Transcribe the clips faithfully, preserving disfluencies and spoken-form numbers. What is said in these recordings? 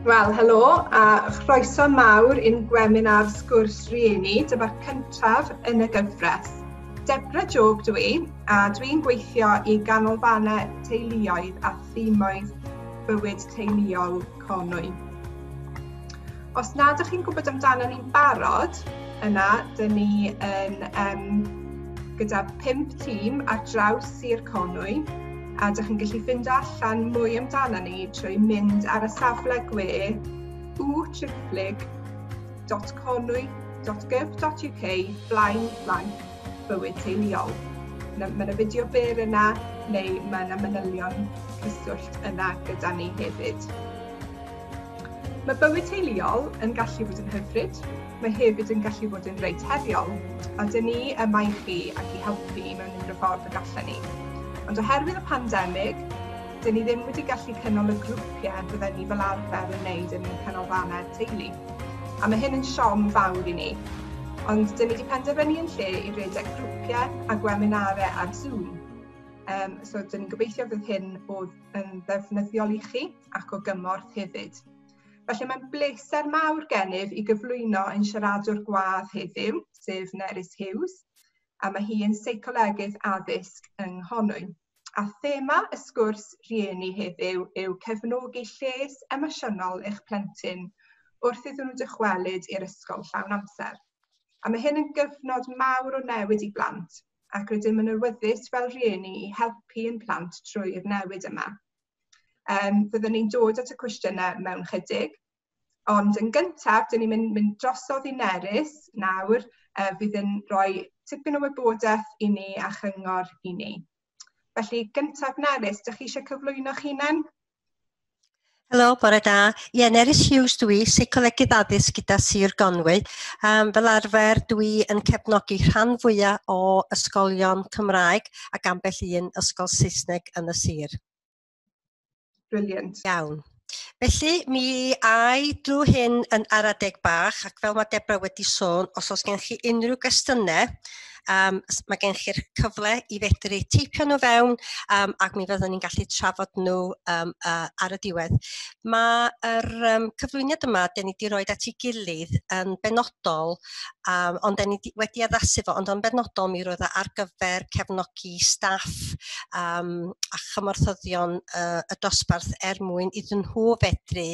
Wel, helo a chroeso mawr i'n gwebinar Sgwrs Rieni, dyma'r cyntaf yn y gyfres. Debra Job dwi, a dwi'n gweithio i ganolfannau teuluoedd a thimoedd bywyd teuluol Conwy. Os nad ydych chi'n gwybod amdano ni'n barod, yna, dyn ni yn, um, gyda pump tîm ar draws Sir Conwy, a dych chi'n gallu ffindo allan mwy amdano ni trwy mynd ar y safle gwe w triphlyg dot conwy dot gov dot U K blaen blank bywyd teuluol. Mae yna fideo byr yna, neu mae yna manylion cyswllt yna gyda ni hefyd. Mae bywyd teuluol yn gallu bod yn hyfryd, mae hefyd yn gallu bod yn reit heriol, a dyn ni yma i chi ac i helpu mewn unrhyw ffordd y gallen ni. Ond oherwydd y pandemig, dyn ni ddim wedi gallu cynnal y grwpiau bydden ni fel arfer yn wneud yn canolfannau teulu. A mae hyn yn siom fawr i ni. Ond dyn ni wedi penderfynu yn lle i redeg grwpiau a gweminarau ar Zoom. Um, so dyn ni'n gobeithio fydd hyn o yn ddefnyddiol i chi ac o gymorth hefyd. Felly mae'n bleser mawr gennyf i gyflwyno ein siaradwr gwadd heddiw, sef Nerys Hughes, a mae hi yn seicolegydd addysg yng Nghonwy. A thema y sgwrs rhieni heddiw yw cefnogi lles emosiynol eich plentyn wrth iddyn nhw dychwelyd i'r ysgol llawn amser. A mae hyn yn gyfnod mawr o newid i blant, ac rydym yn awyddus fel rhieni i helpu ein plant trwy'r newid yma. Um, fyddwn ni'n dod at y cwestiynau mewn chydig, ond yn gyntaf, dyn ni'n mynd, mynd drosodd i Nerys nawr, uh, fydd yn rhoi tipyn o wybodaeth i ni a chyngor i ni. Felly, gyntaf Nerys, dych chi eisiau cyflwyno'ch hunan? Helo, bore da. Ie, Nerys Hughes dwi, seicolegydd addysg gyda Sir Gonwy. Um, fel arfer, dwi yn cefnogi rhan fwyaf o ysgolion Cymraeg ac ambell un ysgol Saesneg yn y sir. Brilliant. Iawn. Felly, mi ai drwy hyn yn ara deg bach, ac fel mae Debra wedi sôn, os oes gen chi unrhyw gwestiynau, um, mae gen chi'r cyfle i fedru teipio nhw fewn, um, ac mi fyddwn ni'n gallu trafod nhw um, uh, ar y diwedd. Mae'r um, cyflwyniad yma, den ni wedi rhoi at ei gilydd yn benodol, um, ond den ni wedi addasu fo, ond yn benodol mi roedd o ar gyfer cefnogi staff um, a chymorthyddion uh, y dosbarth er mwyn iddyn nhw fedru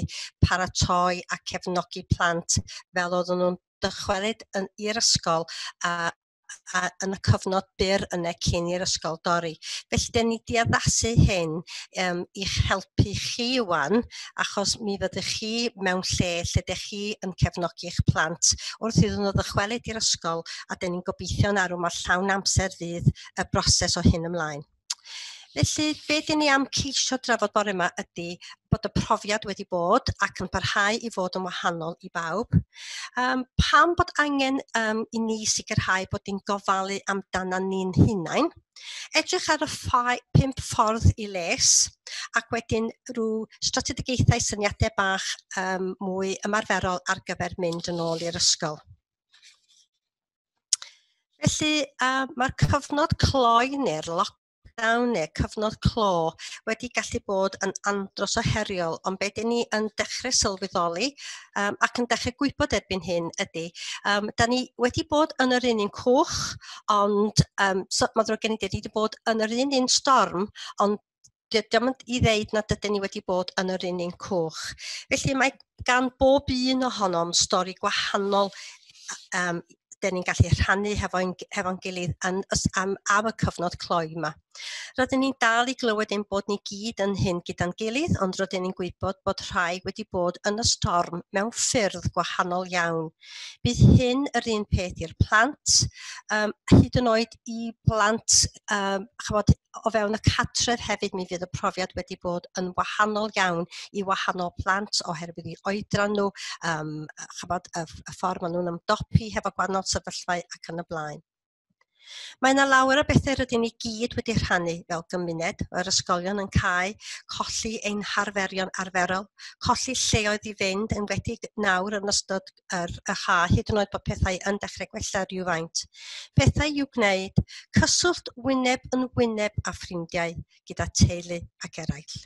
paratoi a cefnogi plant fel oedden nhw'n dychwelyd i'r ysgol a a yn y cyfnod byr yna cyn i'r ysgol dorri. Felly, den ni wedi addasu hyn um, i'ch helpu chi wan, achos mi fyddwch chi mewn lle lle dych chi yn cefnogi eich plant wrth iddyn nhw ddychwelyd i'r ysgol, a den ni'n gobeithio'n arw mae llawn amser fydd y broses o hyn ymlaen. Felly, be dyn ni am ceisio drafod bore yma ydy bod y profiad wedi bod ac yn parhau i fod yn wahanol i bawb. Um, pam bod angen um, i ni sicrhau bod ni'n gofalu amdana ni'n hunain. Edrych ar y ffai, pump ffordd i les, ac wedyn rhyw strategaethau syniadau bach um, mwy ymarferol ar gyfer mynd yn ôl i'r ysgol. Felly, uh, mae'r cyfnod cloi neu'r lockdown neu cyfnod clo wedi gallu bod yn andros o heriol, ond be dyn ni yn dechrau sylweddoli um, ac yn dechrau gwybod erbyn hyn ydy, um, da ni wedi bod yn yr un un cwch, ond um, so, mae ddrwg gen i dweud, ni wedi bod yn yr un un storm, ond dio'm yn i ddeud nad ydyn ni wedi bod yn yr un un cwch. Felly mae gan bob un ohonom stori gwahanol um, dyn ni'n gallu rhannu hefo'n hefo gilydd yn, am, am y cyfnod cloi yma. Rydyn ni'n dal i glywed ein bod ni gyd yn hyn gyda'n gilydd, ond rydyn ni'n gwybod bod rhai wedi bod yn y storm mewn ffyrdd gwahanol iawn. Bydd hyn yr un peth i'r plant, um, hyd yn oed i blant um, chymod, o fewn y cartref hefyd mi fydd y profiad wedi bod yn wahanol iawn i wahanol plant oherwydd i oedran nhw, um, chymod, y, y ffordd maen nhw'n ymdopi hefo gwahanol sefyllfau ac yn y blaen. Mae yna lawer o bethau rydyn ni gyd wedi rhannu fel gymuned, yr ysgolion yn cau, colli ein harferion arferol, colli lleoedd i fynd, enwedig nawr yn ystod yr, y ha, hyd yn oed bod pethau yn dechrau gwella rhywfaint. Pethau i'w gwneud, cyswllt wyneb yn wyneb â ffrindiau gyda teulu ac eraill.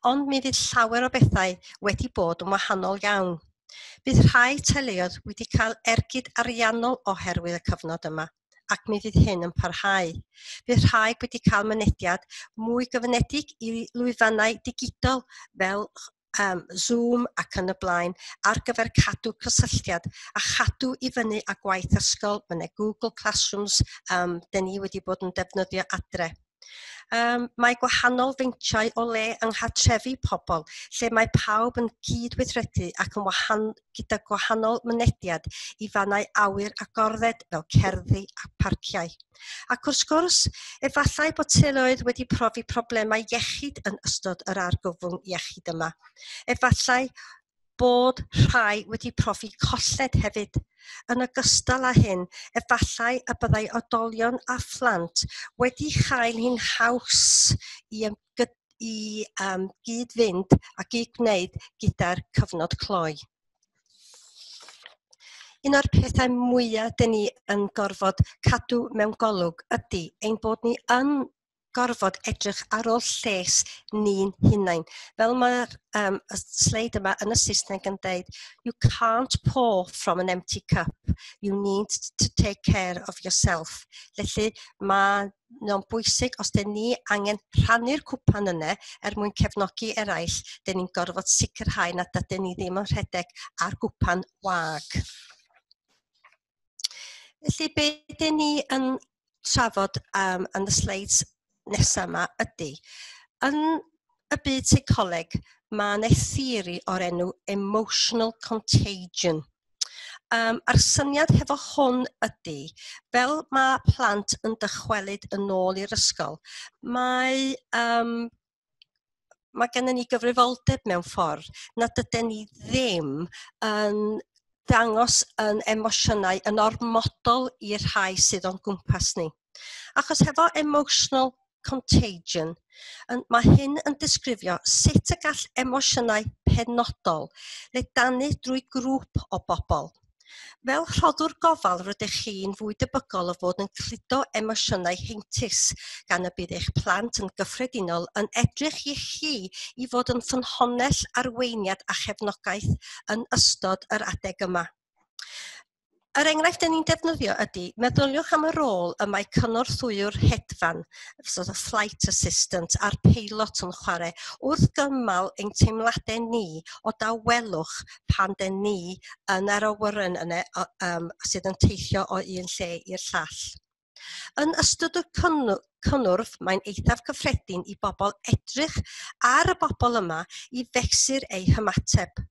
Ond mi fydd llawer o bethau wedi bod yn wahanol iawn. Bydd rhai teuluoedd wedi cael ergyd ariannol oherwydd y cyfnod yma, ac mi fydd hyn yn parhau. Bydd rhai wedi cael mynediad mwy gyfyngedig i lwyfannau digidol fel um, Zoom ac yn y blaen ar gyfer cadw cysylltiad a chadw i fyny â gwaith ysgol. Mae yna Google Classrooms um, dyn ni wedi bod yn defnyddio adre. Um, mae gwahanol feintiau o le yng nghartrefi pobl, lle mae pawb yn cydweithredu ac yn wahan, gyda gwahanol mynediad i fannau awyr agored fel cerddi a parciau. Ac wrth gwrs, efallai bod teuluoedd wedi profi problemau iechyd yn ystod yr argyfwng iechyd yma. Efallai bod rhai wedi profi colled hefyd. Yn ogystal â hyn, efallai y byddai oedolion a phlant wedi chael hi'n haws i, i um, gyd-fynd a gyd-gwneud gyda'r cyfnod cloi. Un o'r pethau mwyaf dyn ni yn gorfod cadw mewn golwg ydy ein bod ni yn gorfod edrych ar ôl lles ni'n hunain. Fel mae'r um, y sleid yma yn y Saesneg yn deud, "You can't pour from an empty cup, you need to take care of yourself." Felly mae nhw'n bwysig os dyn ni angen rhannu'r cwpan yna er mwyn cefnogi eraill, dyn ni'n gorfod sicrhau nad ydyn ni ddim yn rhedeg ar gwpan wag. Felly be dyn ni yn trafod um, yn y slides nesaf yma ydy, yn y byd seicoleg, mae yna theori o'r enw emotional contagion. Um, a'r syniad hefo hwn ydy, fel mae plant yn dychwelyd yn ôl i'r ysgol, mae, um, mae gennym ni gyfrifoldeb mewn ffordd nad ydyn ni ddim yn dangos yn emosiynau yn ormodol i'r rhai sydd o'n gwmpas ni. Achos hefo emotional contagion, yn, mae hyn yn disgrifio sut y gall emosiynau penodol ledanu drwy grŵp o bobl. Fel rhoddwr gofal, rydych chi'n fwy debygol o fod yn cludo emosiynau heintus gan y bydd eich plant yn gyffredinol yn edrych i chi i fod yn ffynhonnell arweiniad a chefnogaeth yn ystod yr adeg yma. Yr enghraifft dyn ni'n defnyddio ydy, meddyliwch am y rôl y mae cynorthwywr hedfan, sort of flight assistant, a'r peilot yn chwarae wrth gymal ein teimladau ni o dawelwch pan dyn ni yn yr awyren yna um, sydd yn teithio o un lle i'r llall. Yn ystod y cynnwrf, mae'n eithaf cyffredin i bobl edrych ar y bobl yma i fesur eu hymateb.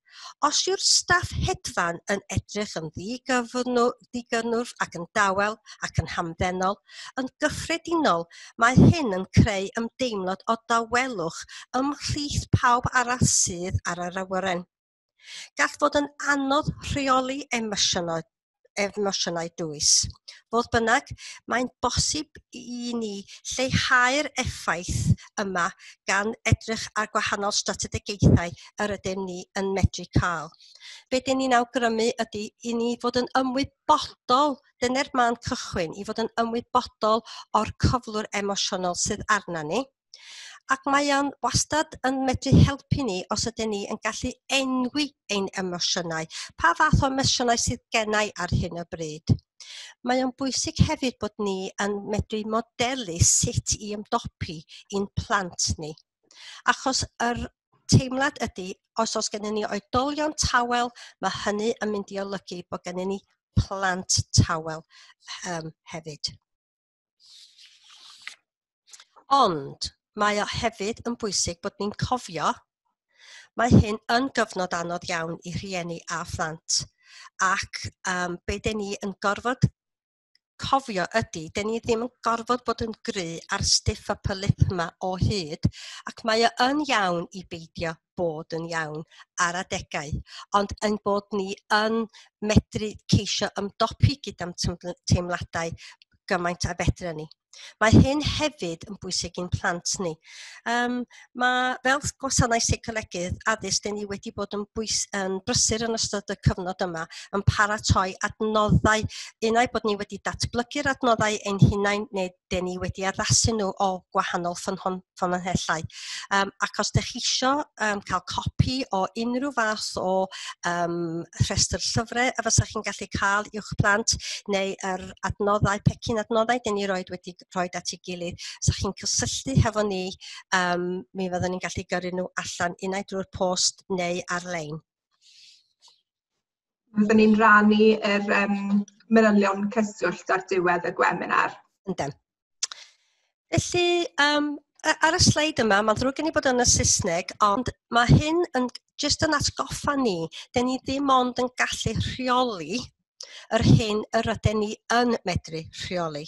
Os yw'r staff hedfan yn edrych yn ddigynnwrf ac yn dawel ac yn hamddenol, yn gyffredinol mae hyn yn creu ymdeimlad o dawelwch ymhlith pawb arall sydd ar yr awyren. Gall fod yn anodd rheoli emosiynau emosiynau dwys. Fodd bynnag, mae'n bosib i ni lleihau'r effaith yma gan edrych ar gwahanol strategaethau yr ydym ni yn medru cael. Be dyn ni'n awgrymu ydy i ni fod yn ymwybodol, dyna'r man cychwyn, i fod yn ymwybodol o'r cyflwr emosiynol sydd arna ni. Ac mae o'n wastad yn medru helpu ni os ydyn ni yn gallu enwi ein emosiynau. Pa fath o emosiynau sydd gennai ar hyn o bryd? Mae o'n bwysig hefyd bod ni yn medru modelu sut i ymdopi i'n plant ni. Achos yr teimlad ydy, os oes gennym ni oedolion tawel, mae hynny yn mynd i olygu bod gennym ni plant tawel um, hefyd. Ond mae o hefyd yn bwysig bod ni'n cofio mae hyn yn gyfnod anodd iawn i rhieni a phlant. Ac um, be dyn ni yn gorfod cofio ydy, dyn ni ddim yn gorfod bod yn gry ar stiff upper lip yma o hyd, ac mae o yn iawn i beidio bod yn iawn ar adegau, ond yn bod ni yn medru ceisio ymdopi gyda'n teimladau gymaint a fedra ni. Mae hyn hefyd yn bwysig i'n plant ni. Um, mae, fel gwasanaeth seicolegydd addysg, dyn ni wedi bod yn, bwys, yn brysur yn ystod y cyfnod yma yn paratoi adnoddau, unai bod ni wedi datblygu'r adnoddau ein hunain neu Den ni wedi addasu nhw o gwahanol ffynhon, ffynonellau. Um, ac os ydych chi isio um, cael copi o unrhyw fath o um, rhestr llyfrau a fysa chi'n gallu cael i'wch plant, neu yr adnoddau, pecyn adnoddau den ni roed wedi rhoi at ei gilydd, sa chi'n cysylltu hefo ni, um, mi fyddwn ni'n gallu gyrru nhw allan unai drwy'r post neu ar-lein. Fyddwn ni'n rannu yr um, manylion cyswllt ar diwedd y gwebinar. Yndyn. Felly, um, ar y sleid yma, mae'n ddrwg gen i bod yn y Saesneg, ond mae hyn yn jyst yn atgoffa ni, den ni ddim ond yn gallu rheoli yr hyn yr ydyn ni yn medru rheoli.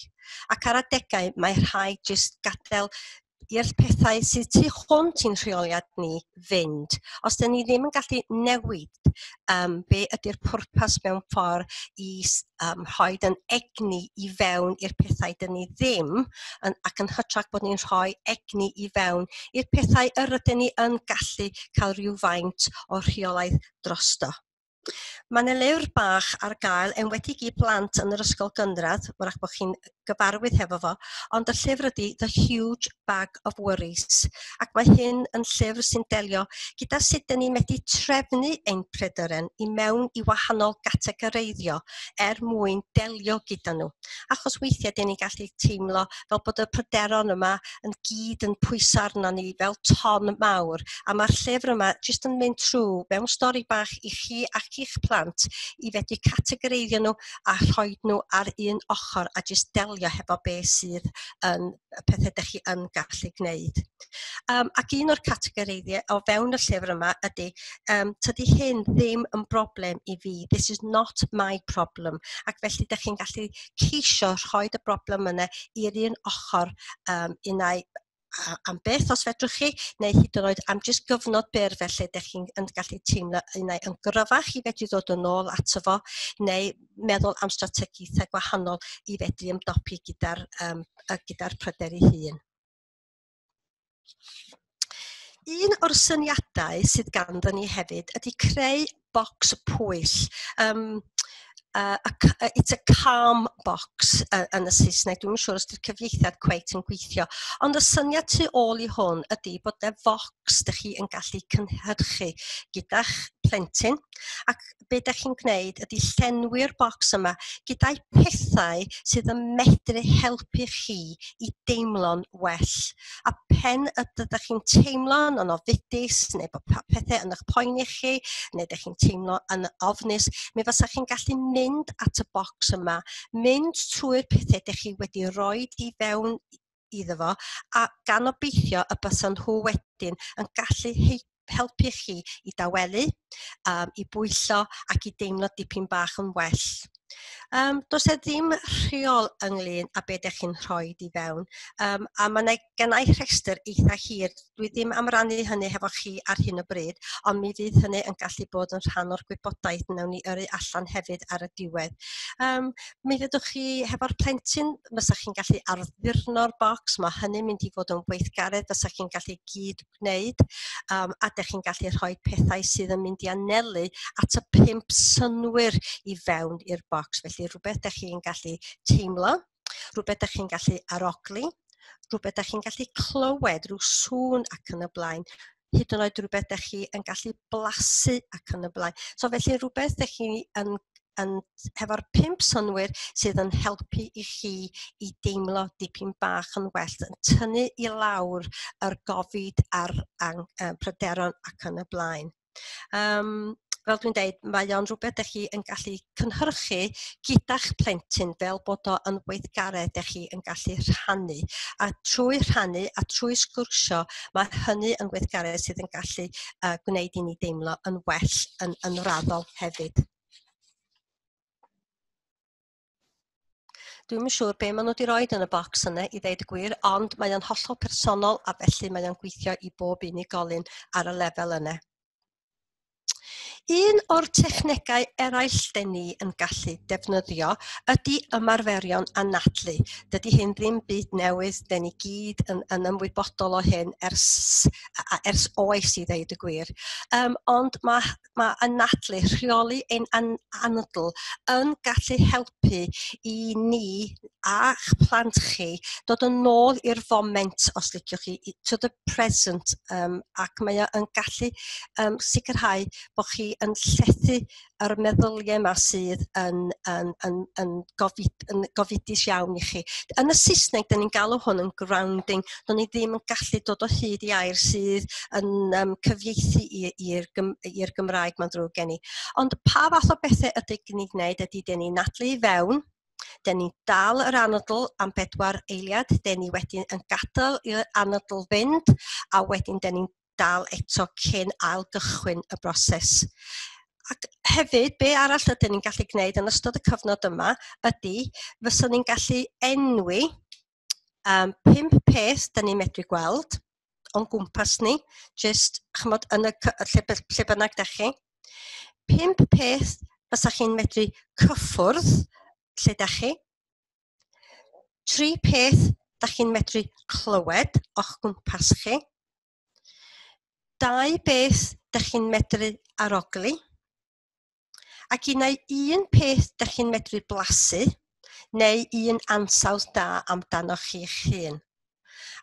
Ac ar adegau mae rhaid jyst gadael i'r pethau sydd tu hwnt i'n rheoliad ni fynd. Os dyn ni ddim yn gallu newid um, be ydy'r pwrpas mewn ffordd i um, rhoi yn egni i fewn i'r pethau dyn ni ddim, yn, ac yn hytrach bod ni'n rhoi egni i fewn i'r pethau yr ydyn ni yn gallu cael rhywfaint o rheolaeth drosto. Mae yna lyfr bach ar gael, enwedig i blant yn yr ysgol gynradd, wrach bod chi'n gyfarwydd hefo fo, ond y llyfr ydy The Huge Bag of Worries. Ac mae hyn yn llyfr sy'n delio gyda sut dyn ni'n medru trefnu ein pryderon i mewn i wahanol gategoreiddio er mwyn delio gyda nhw. Achos weithiau dyn ni'n gallu teimlo fel bod y pryderon yma yn gyd yn pwyso arno ni fel ton mawr. A mae'r llyfr yma jyst yn mynd trwy mewn stori bach i chi ac i'ch plant i fedru categoreiddio nhw a rhoi nhw ar un ochr a jyst delio hefo be sydd yn y pethau ydych chi yn gallu gwneud. Um, ac un o'r categoreiddiau o fewn y llyfr yma ydy, um, tydi hyn ddim yn broblem i fi. This is not my problem. Ac felly ydych chi'n gallu ceisio rhoi y broblem yna i'r un ochr um, unai am beth os fedrwch chi, neu hyd yn oed am jyst gyfnod byr felly ydych chi'n yn gallu teimlo unai yn gryfach i fedru ddod yn ôl ato fo, neu meddwl am strategaethau gwahanol i fedru ymdopi gyda'r um, gyda'r pryder ei hun. Un o'r syniadau sydd ganddo ni hefyd ydy creu bocs pwyll. Um, Uh, a, it's a calm box uh, yn y Saesneg. Dwi'n siŵr os ydy'r cyfieithiad cweit yn gweithio. Ond y syniad tu ôl i hwn ydy bod y focs ydych chi yn gallu cynhyrchu gyda'ch plentyn. Ac be ydych chi'n gwneud ydy llenwi'r bocs yma gyda'i pethau sydd yn medru helpu chi i deimlo'n well. A pen ydych chi'n teimlo'n yn ofidus, neu bod pethau yn eich poeni chi, neu ydych chi'n teimlo yn ofnus, mi fysa chi'n gallu mynd at y bocs yma, mynd trwy'r pethau ydych chi wedi rhoi i fewn iddo fo, a gan obeithio y bysan nhw wedyn yn gallu helpu chi i dawelu, um, i bwyllo ac i deimlo dipyn bach yn well. Um, does e ddim rheol ynglyn â be ydych chi'n rhoi i fewn, um, a mae yna gennau rhestr eitha hir. Dwi ddim am rannu hynny hefo chi ar hyn o bryd, ond mi fydd hynny yn gallu bod yn rhan o'r gwybodaeth wnawn ni yrru allan hefyd ar y diwedd. Um, mi fyddwch chi hefo'r plentyn, fysa chi'n gallu arddurno'r bocs, mae hynny'n mynd i fod yn weithgaredd fysa chi'n gallu gyd gwneud, um, a dych chi'n gallu rhoi pethau sydd yn mynd i anelu at y pump synnwyr i fewn i'r bocs. Felly rhywbeth dych chi'n gallu teimlo, rhywbeth dych chi'n gallu arogli, rhywbeth dych chi'n gallu clywed, rhyw sŵn ac yn y blaen, hyd yn oed rhywbeth dych chi yn gallu blasu ac yn y blaen. So felly rhywbeth dych chi yn, yn, hefo'r pump synnwyr sydd yn helpu i chi i deimlo dipyn bach yn well, yn tynnu i lawr yr gofid a'r ang, pryderon ac yn y blaen. Um, Fel dwi'n deud, mae o'n rhywbeth ydych chi yn gallu cynhyrchu gyda'ch plentyn fel bod o yn weithgaredd ydych chi yn gallu rhannu. A trwy rhannu a trwy sgwrsio, mae hynny yn weithgaredd sydd yn gallu uh, gwneud i ni deimlo yn well yn, yn raddol hefyd. Dwi'm yn siŵr be maen nhw wedi rhoi yn y bocs yna i ddeud y gwir, ond mae o'n hollol personol a felly mae o'n gweithio i bob unigolyn ar y lefel yna. Un o'r technegau eraill den ni yn gallu defnyddio ydy ymarferion anadlu. Dydy hyn ddim byd newydd, den ni gyd yn, yn ymwybodol o hyn ers, ers oes i ddeud y gwir. Um, ond mae, mae anadlu, rheoli ein an, anadl, yn gallu helpu i ni a'ch plant chi dod yn ôl i'r foment, os liciwch chi, to the present, um, ac mae o yn gallu um, sicrhau bod chi yn llethu yr meddyliau yma sydd yn, yn, yn, yn, gofid, yn gofidus iawn i chi. Yn y Saesneg, dyn ni'n galw hwn yn grounding. Do'n ni ddim yn gallu dod o hyd i air sydd yn um, cyfieithu i'r i'r Gymraeg, mae'n ddrwg gen i. Ond pa fath o bethau ydy ni'n gwneud ydy dyn ni'n anadlu i fewn, dyn ni dal yr anadl am bedwar eiliad, dyn ni wedyn yn gadael i'r anadl fynd, a wedyn dyn ni'n dal eto cyn ail gychwyn y broses. Ac hefyd, be arall ydyn ni'n gallu gwneud yn ystod y cyfnod yma ydy, fyswn ni'n gallu enwi um, pump peth dyn ni'n medru gweld o'n gwmpas ni, just chymod, yn y, lle, lle bynnag da chi. Pump peth fysa chi'n medru cyffwrdd lle da chi. Tri peth da chi'n medru clywed o'ch gwmpas chi. Dau beth da chi'n medru arogli. Ac un un peth da chi'n medru blasu, neu un ansawdd da amdano chi'ch hun.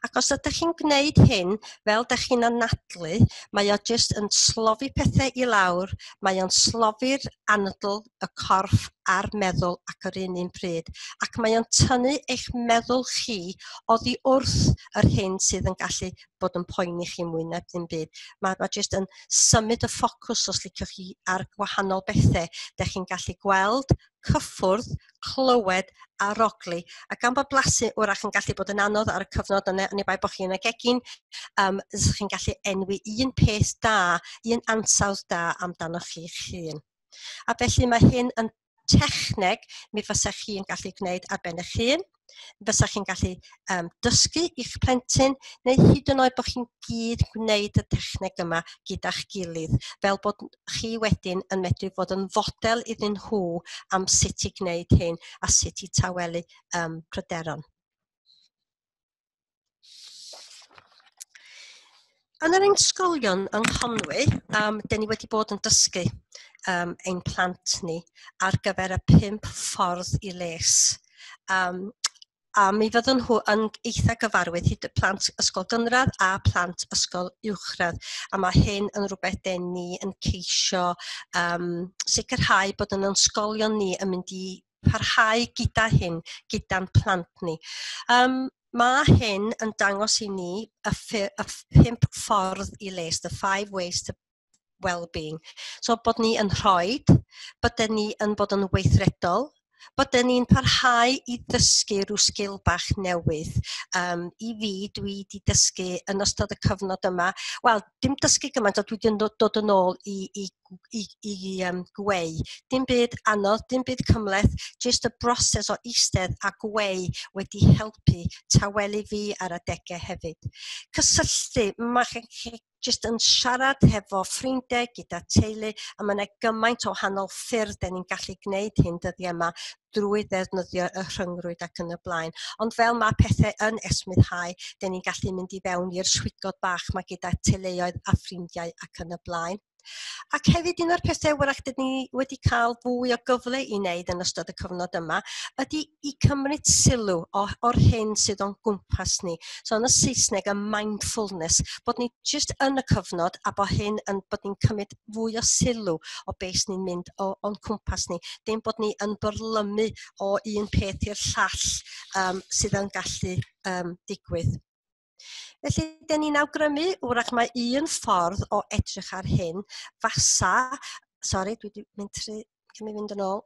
Ac os ydych chi'n gwneud hyn fel ydych chi'n anadlu, mae o jyst yn slofi pethau i lawr, mae o'n slofi'r anadl, y corff a'r meddwl ac yr un un pryd. Ac mae o'n tynnu eich meddwl chi oddi wrth yr hyn sydd yn gallu bod yn poeni chi mwy na ddim byd. Mae, mae jyst yn symud y ffocws, os liciwch chi, ar gwahanol bethau. Dych chi'n gallu gweld, cyffwrdd, clywed, arogli. A gan bod blasu wrach yn gallu bod yn anodd ar y cyfnod yna, oni bai bod chi yn y gegin, um, chi'n gallu enwi un peth da, un ansawdd da amdano chi'ch hun. A felly mae hyn yn techneg mi fysa chi'n gallu gwneud ar ben eich hun, fysa chi'n gallu um, dysgu i'ch plentyn, neu hyd yn oed bod chi'n gyd gwneud y techneg yma gyda'ch gilydd, fel bod chi wedyn yn medru fod yn fodel iddyn nhw am sut i gwneud hyn a sut i tawelu um, pryderon. Yn yr ysgolion yng Nghonwy, um, dyn ni wedi bod yn dysgu um, ein plant ni ar gyfer y pump ffordd i les. Um, a mi fyddwn nhw yn eitha gyfarwydd hyd y plant ysgol gynradd a plant ysgol uwchradd. A mae hyn yn rhywbeth dyn ni yn ceisio um, sicrhau bod yn ysgolion ni yn mynd i parhau gyda hyn, gyda'n plant ni. Um, Mae hyn yn dangos i ni y, y pump ffordd i les, the five ways to well-being. So bod ni yn rhoi, bod ni yn bod yn weithredol, bod ni'n parhau i ddysgu rhyw sgil bach newydd. Um, I fi, dwi wedi dysgu yn ystod y cyfnod yma, wel, dim dysgu gymaint, ond dwi wedi dod yn ôl i, i, i, i um, gweu. Dim byd anodd, dim byd cymhleth, jyst y broses o eistedd a gweu wedi helpu tawelu fi ar adegau hefyd. Cysylltu, mae chi jyst yn siarad hefo ffrindiau gyda teulu, a mae yna gymaint o wahanol ffyrdd dan ni'n gallu gwneud hyn dyddiau yma drwy ddefnyddio y rhyngrwyd ac yn y blaen. Ond fel mae pethau yn esmwythau, dan ni'n gallu mynd i fewn i'r swigod bach mae gyda teuluoedd a ffrindiau ac yn y blaen. Ac hefyd un o'r pethau wrach dyn ni wedi cael fwy o gyfle i wneud yn ystod y cyfnod yma ydy i cymryd sylw o, o'r hyn sydd o'n gwmpas ni. So yn y Saesneg, y mindfulness, bod ni jyst yn y cyfnod a bod hyn yn bod ni'n cymryd fwy o sylw o beth ni'n mynd o, o'n cwmpas ni. Dim bod ni yn byrlymu o un peth i'r llall um, sydd yn gallu um, digwydd. Felly, dyn ni'n awgrymu, wrach mae un ffordd o edrych ar hyn, fasa, sori, dwi wedi mynd tri, cyn mi fynd yn ôl,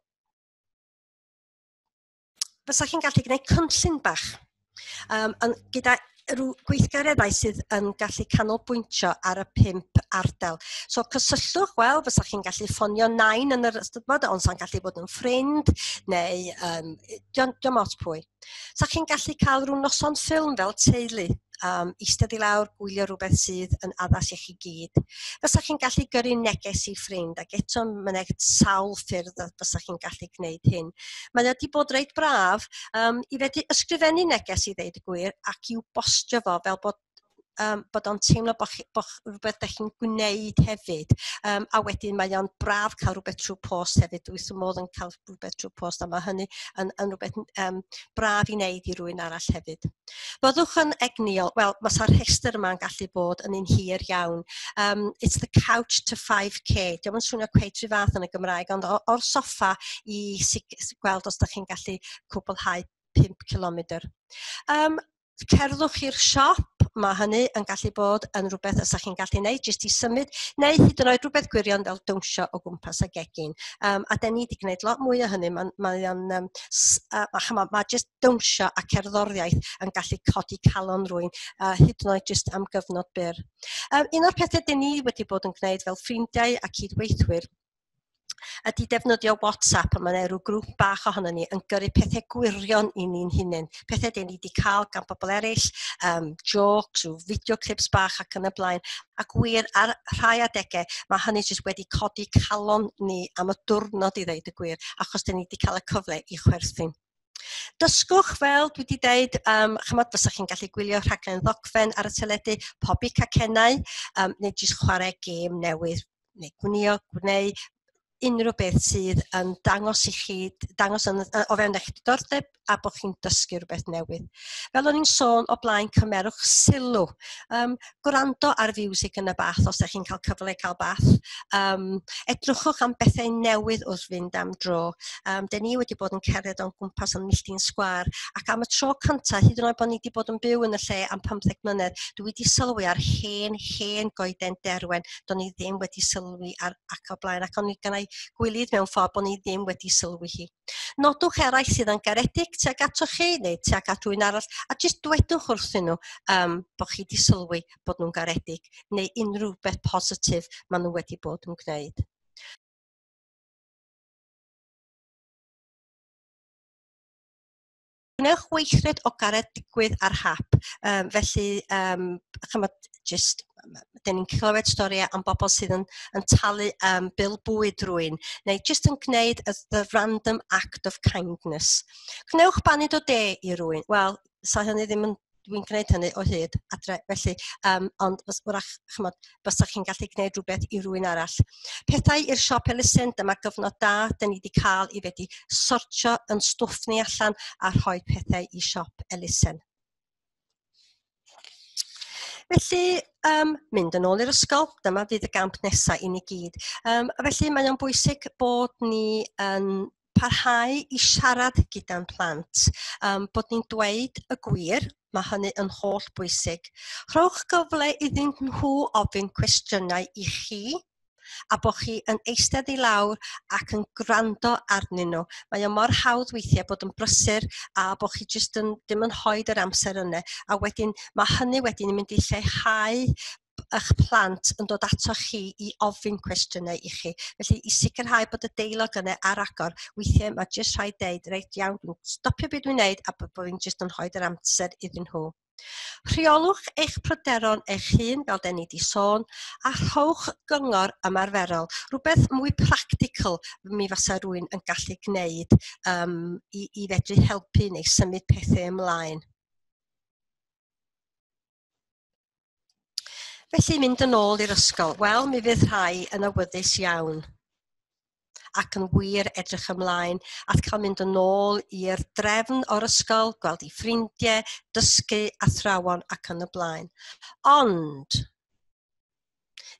fysa chi'n gallu gwneud cynllun bach um, yn, gyda rhyw gweithgareddau sydd yn gallu canolbwyntio ar y pump ardal. So cysylltwch, wel, fysa chi'n gallu ffonio nain yn yr ystod, ond sa'n gallu bod yn ffrind, neu um, diom ots pwy. Sa chi'n gallu cael rhyw noson ffilm fel teulu, um, eistedd i lawr, gwylio rhywbeth sydd yn addas i chi gyd. Fysa chi'n gallu gyrru neges i ffrind, ac eto mae'n sawl ffyrdd fysa chi'n gallu gwneud hyn. Mae wedi bod reit braf um, i fedru ysgrifennu neges i ddeud y gwir ac i'w bostio fo fel bod um, bod o'n teimlo bod, chi, bod rhywbeth ydych chi'n gwneud hefyd. Um, a wedyn mae o'n braf cael rhywbeth trwy post hefyd. Dwi wrth modd yn cael rhywbeth trwy post, a mae hynny yn, yn rhywbeth um, braf i wneud i rywun arall hefyd. Byddwch yn egnïol. Wel, mae'r rhestr yma'n gallu bod yn un hir iawn. Um, it's the couch to five K. Dio'm yn swnio cweit rhyw fath yn y Gymraeg, ond o'r soffa i gweld os ydych chi'n gallu cwblhau pump kilometr. Um, cerddwch i'r siop, mae hynny yn gallu bod yn rhywbeth ys chi'n gallu gwneud, jyst i symud, neu hyd yn oed rhywbeth gwirion fel dawnsio o gwmpas y gegin. Um, a den ni wedi gwneud lot mwy o hynny, mae'n mae o'n, um, uh, ma, ma jyst dawnsio a cerddoriaeth yn gallu codi calon rhywun, uh, hyd yn oed jyst am gyfnod byr. Um, un o'r pethau den ni wedi bod yn gwneud fel ffrindiau a cydweithwyr ydy defnyddio WhatsApp, a mae yna rhyw grŵp bach ohono ni yn gyrru pethau gwirion i ni'n hunain. Pethau dyn ni wedi cael gan bobl eraill, um, jokes, rhyw video clips bach ac yn y blaen. Ac wir, ar rhai adegau, mae hynny jyst wedi codi calon ni am y diwrnod i ddeud y gwir, achos dyn ni wedi cael y cyfle i chwerthin. Dysgwch, fel dwi wedi deud, um, chymod, fysa chi'n gallu gwylio rhaglen ddogfen ar y teledu, pobi cacennau, um, neu jyst chwarae gêm newydd, neu gwnïo, gwneud unrhyw beth sydd yn dangos i chi, dangos yn, o fewn eich diddordeb a bod chi'n dysgu rhywbeth newydd. Fel o'n i'n sôn o blaen, cymerwch sylw. Um, gwrando ar fiwsig yn y bath os ydych chi'n cael cyfle cael bath. Um, edrychwch am bethau newydd wrth fynd am dro. Um, Den ni wedi bod yn cerdded o'n gwmpas yn milltir sgwâr, ac am y tro cyntaf, hyd yn oed bod ni wedi bod yn byw yn y lle am pymtheg mlynedd, dwi wedi sylwi ar hen, hen goeden derwen. Do'n i ddim wedi sylwi ar ac o blaen, ac o'n i gynnau gwilydd mewn ffordd bod ni ddim wedi sylwi hi. Nodwch eraill sydd yn garedig tuag atoch chi neu tuag at rhywun arall, a jyst dwedwch wrthyn nhw um, bod chi wedi sylwi bod nhw'n garedig neu unrhyw beth positif maen nhw wedi bod yn gwneud. Gwnewch weithred o garedigwydd ar hap. Um, felly, um, chymod, just, dyn ni'n clywed storïau am bobl sydd yn, yn talu um, bil bwyd rhywun, neu just yn gwneud y, the random act of kindness. Gwnewch baned o de i rywun. Wel, sa hynny ddim yn, dwi'n gwneud hynny o hyd adre, felly, um, ond wrach, chymod, fysa chi'n gallu gwneud rhywbeth i rywun arall. Pethau i'r siop elusen, dyma gyfnod da, dyn ni wedi cael i fedru sortio yn stwff ni allan a rhoi pethau i siop elusen. Felly, um, mynd yn ôl i'r ysgol, dyma fydd y gamp nesaf i ni gyd. Um, a felly, mae o'n bwysig bod ni yn parhau i siarad gyda'n plant, um, bod ni'n dweud y gwir, mae hynny yn holl bwysig. Rhowch gyfle iddyn nhw ofyn cwestiynau i chi, a bod chi yn eistedd i lawr ac yn gwrando arnyn nhw. Mae o mor hawdd weithiau bod yn brysur a bod chi jyst yn, ddim yn rhoid yr amser yna. A wedyn mae hynny wedyn yn mynd i lleihau eich plant yn dod ato chi i ofyn cwestiynau i chi. Felly i sicrhau bod y deialog yna ar agor, weithiau mae jyst rhaid deud, reit iawn, dwi'n stopio beth dwi'n neud a bod fi'n jyst yn rhoid yr amser iddyn nhw. Rheolwch eich pryderon eich hun, fel den ni wedi sôn, a rhowch gyngor ymarferol, rhywbeth mwy practical mi fasa rhywun yn gallu gwneud um, i, i fedru helpu neu symud pethau ymlaen. Felly mynd yn ôl i'r ysgol, wel mi fydd rhai yn awyddus iawn ac yn wir edrych ymlaen at cael mynd yn ôl i'r drefn o'r ysgol, gweld eu ffrindiau, dysgu, athrawon ac yn y blaen. Ond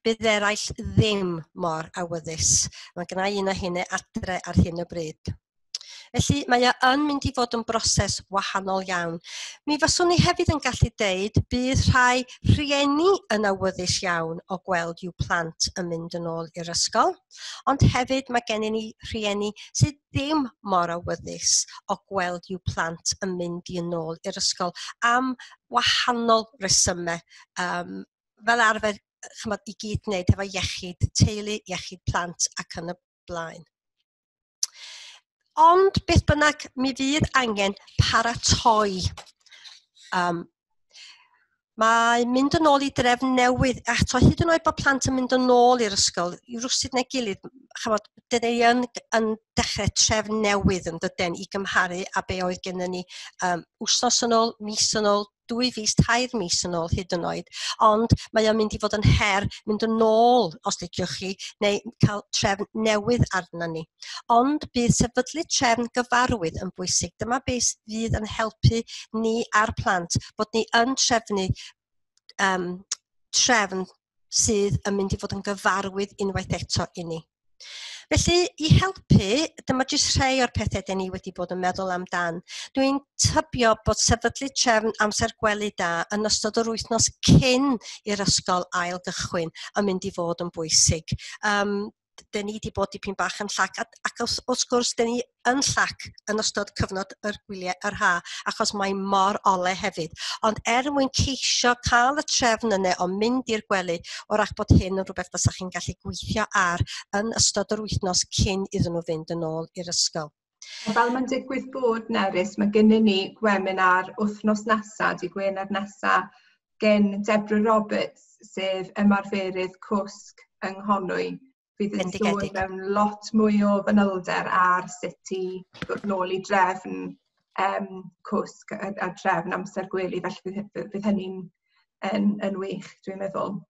bydd eraill ddim mor awyddus. Mae gynna i un o hynny adre ar hyn o bryd. Felly mae o yn mynd i fod yn broses wahanol iawn. Mi faswn i hefyd yn gallu deud bydd rhai rhieni yn awyddus iawn o gweld i'w plant yn mynd yn ôl i'r ysgol, ond hefyd mae gennym ni rhieni sydd ddim mor awyddus o gweld i'w plant yn mynd i yn ôl i'r ysgol am wahanol resymau. Um, fel arfer, chymod, i gyd wneud efo iechyd teulu, iechyd plant ac yn y blaen. Ond beth bynnag, mi fydd angen paratoi. Um, mae mynd yn ôl i drefn newydd, eto hyd yn oed bod plant yn mynd yn ôl i'r ysgol, i rywsut neu gilydd, chymod, dyn ni yn, yn dechrau trefn newydd yn dydyn i gymharu a be oedd gennym ni um, wythnos yn ôl, mis yn ôl, dwy fis, tair mis yn ôl hyd yn oed, ond mae o'n mynd i fod yn her mynd yn ôl, os liciwch chi, neu cael trefn newydd arna ni. Ond bydd sefydlu trefn gyfarwydd yn bwysig. Dyma beth fydd yn helpu ni a'r plant, bod ni yn trefnu um, trefn sydd yn mynd i fod yn gyfarwydd unwaith eto i ni. Felly, i helpu, dyma jyst rhai o'r pethau dan ni wedi bod yn meddwl amdan. Dwi'n tybio bod sefydlu trefn amser gwely da yn ystod yr wythnos cyn i'r ysgol ail gychwyn yn mynd i fod yn bwysig. Um, dyn ni wedi bod dipyn bach yn llac, ac, ac wrth gwrs, dyn ni yn llac yn ystod cyfnod yr gwyliau yr ha, achos mae mor ole hefyd. Ond er mwyn ceisio cael y trefn yna o mynd i'r gwely, wrach bod hyn yn rhywbeth fysa chi'n gallu gweithio ar yn ystod yr wythnos cyn iddyn nhw fynd yn ôl i'r ysgol. Fel mae'n digwydd bod, Nerys, mae gennym ni webinar wythnos nesaf, di Gwener nesaf, gen Deborah Roberts, sef ymarferydd cwsg yng Nghonwy, fydd yn dod mewn lot mwy o fanylder ar sut i ddod nôl i drefn um, cwsg a, a trefn amser gwely, felly fydd, fydd hynny'n yn, yn wych, dwi'n meddwl.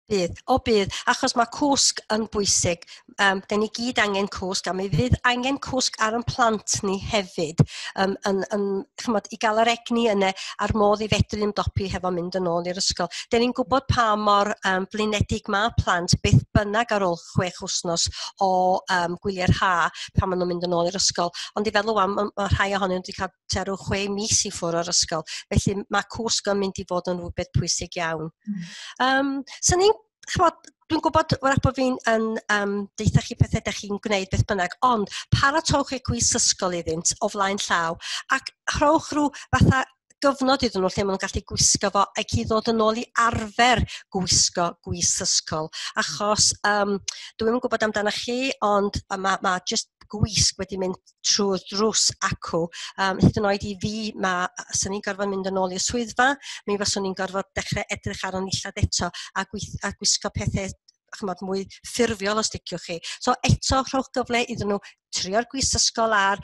Bydd, o bydd, achos mae cwsg yn bwysig. Um, den ni gyd angen cwsg, a mi fydd angen cwsg ar ein plant ni hefyd, um, yn, yn, chymod, i gael yr egni yna a'r modd i fedru ymdopi hefo mynd yn ôl i'r ysgol. Den ni'n gwybod pa mor um, blinedig mae plant beth bynnag ar ôl chwech wythnos o um, gwyliau'r ha pan maen nhw'n mynd yn ôl i'r ysgol. Ond i feddwl am, mae rhai ohonyn nhw wedi cael tua rhyw chwe mis i ffwrdd o'r ysgol. Felly mae cwsg yn mynd i fod yn rhywbeth pwysig iawn. Mm. Um, so ni'n chymod, dwi'n gwybod wrach bod fi'n yn um, deutha chi pethau ydych chi'n gwneud beth bynnag, ond paratowch eich cwis ysgol iddynt o flaen llaw ac rhowch rhyw fatha gyfnod iddyn nhw lle maen nhw'n gallu gwisgo fo ac i ddod yn ôl i arfer gwisgo gwis ysgol. Achos um, dwi'm yn gwybod amdano chi, ond mae ma just gwisg wedi mynd trwy'r drws acw. Um, hyd yn oed i fi, ma, swn i'n gorfod mynd yn ôl i'r swyddfa, mi faswn i'n gorfod dechrau edrych ar o'n nillad eto a, gweith, a gwisgo pethau chymod, mwy ffurfiol os liciwch chi. So eto, rhowch gyfle iddyn nhw trio'r gwisg ysgol ar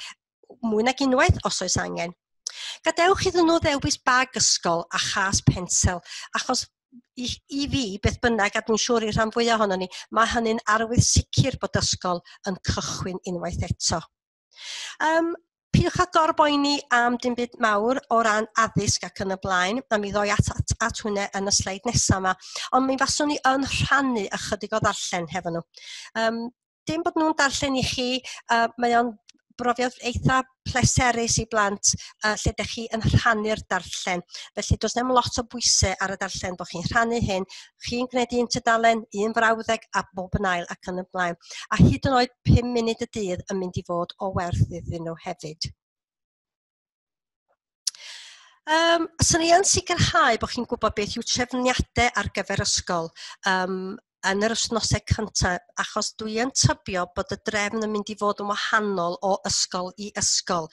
mwy nag unwaith os oes angen. Gadewch iddyn nhw ddewis bag ysgol a chas pensel, achos i, i fi, beth bynnag, a dwi'n siŵr i'r rhan fwyaf ohono ni, mae hynny'n arwydd sicr bod ysgol yn cychwyn unwaith eto. Um, Peidiwch â gorboeni am dim byd mawr o ran addysg ac yn y blaen, a mi ddoi at, at, at hwnna yn y sleid nesaf yma, ond mi faswn i yn rhannu ychydig o ddarllen hefo nhw. Um, dim bod nhw'n darllen i chi, uh, mae o'n brofiad eitha pleserus i blant uh, lle ydych chi yn rhannu'r darllen. Felly does dim lot o bwysau ar y darllen bod chi'n rhannu hyn. Chi'n gwneud un tudalen, un frawddeg a bob yn ail ac yn y blaen. A hyd yn oed pum munud y dydd yn mynd i fod o werth iddyn nhw hefyd. Um, swn i yn sicrhau bod chi'n gwybod beth yw trefniadau ar gyfer ysgol um, yn yr wythnosau cyntaf, achos dwi yn tybio bod y drefn yn mynd i fod yn wahanol o ysgol i ysgol.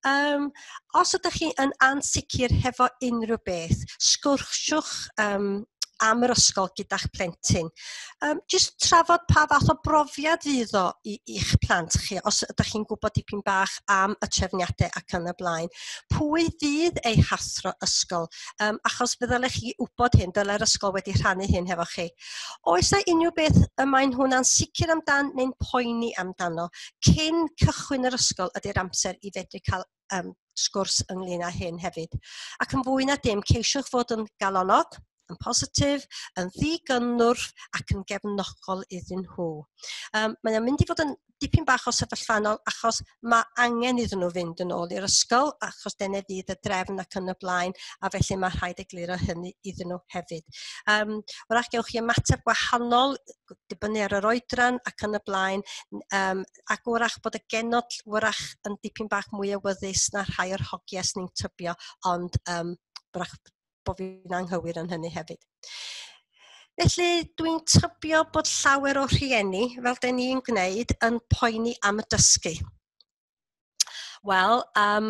Um, os ydych chi yn ansicr hefo unrhyw beth, sgwrsiwch um, am yr ysgol gyda'ch plentyn. Um, just trafod pa fath o brofiad fydd o i, i'ch plant chi, os ydych chi'n gwybod dipyn bach am y trefniadau ac yn y blaen. Pwy fydd eu hathro ysgol? Um, achos fe ddylech chi wybod hyn, dylai'r ysgol wedi rhannu hyn hefo chi. Oes 'na unrhyw beth y maen nhw'n ansicr amdan neu'n poeni amdano? Cyn cychwyn yr ysgol ydy'r amser i fedru cael um, sgwrs ynglyn â hyn hefyd. Ac yn fwy na dim, ceisiwch fod yn galonog, yn positif, yn ddigynnwrf ac yn gefnogol iddyn nhw. Um, mae o'n mynd i fod yn dipyn bach o sefyllfanol achos mae angen iddyn nhw fynd yn ôl i'r ysgol achos dyna fydd y drefn ac yn y blaen, a felly mae rhaid egluro hynny iddyn nhw hefyd. Um, wrach gewch chi ymateb gwahanol, dibynnu ar yr oedran ac yn y blaen, um, ac wrach bod y genod wrach yn dipyn bach mwy awyddus na rhai o'r hogiau sy'n ni'n tybio, ond um, wrach bod fi'n anghywir yn hynny hefyd. Felly dwi'n tybio bod llawer o rhieni, fel den ni'n gwneud, yn poeni am y dysgu. Wel, um,